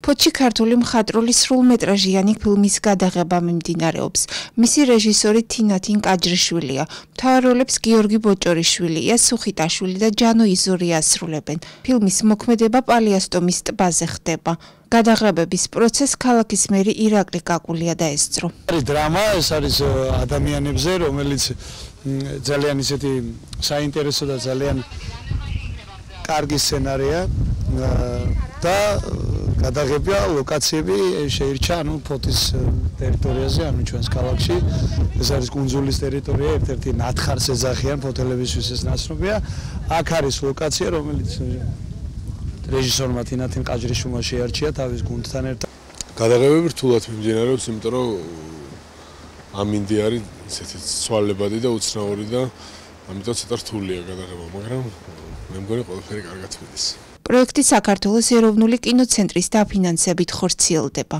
ფოთში ქართული მხატვრული სრულმეტრაჟიანი ფილმის გადაღება მიმდინარეობს. მისი რეჟისორი თინათინ კაჯრიშვილია. მთავარ როლებს გიორგი ბოჭორიშვილი, ია სუხიტაშვილი და ჯანო იზური ასრულებენ. ფილმის მოქმედება პალიასტომის ტბაზე ხდება. გადაღებების პროცესს ქალაქის მერი ირაკლი კაკულია დაესწრო. არის დრამა, ეს არის ადამიანებზე, რომელიც ძალიან ისეთი საინტერესო და ძალიან კარგი სცენარია და გადაღებია ლოკაციები შეირჩა ფოთის ტერიტორიაზე, ჩვენს ქალაქში. ეს არის კუნძულის ტერიტორია, ერთ-ერთი ნათხარს ეძახიან ფოთელებისთვის ეს ნაცნობია. აქ არის ლოკაცია, რომელიც რეჟისორმა თინათინ კაჯრიშვილმა შეარჩია თავის გუნდთან ერთად. გადაღებები რთულად მიმდინარეობს, იმიტომ რომ ამინდი არის ისეთი ცვალებადი და უცნაური და ამიტომ ცოტა რთულია გადაღება, მაგრამ მე მგონი ყველაფერი კარგად მიდის. პროექტი საქართველოს ეროვნული კინოცენტრის დაფინანსებით ხორციელდება.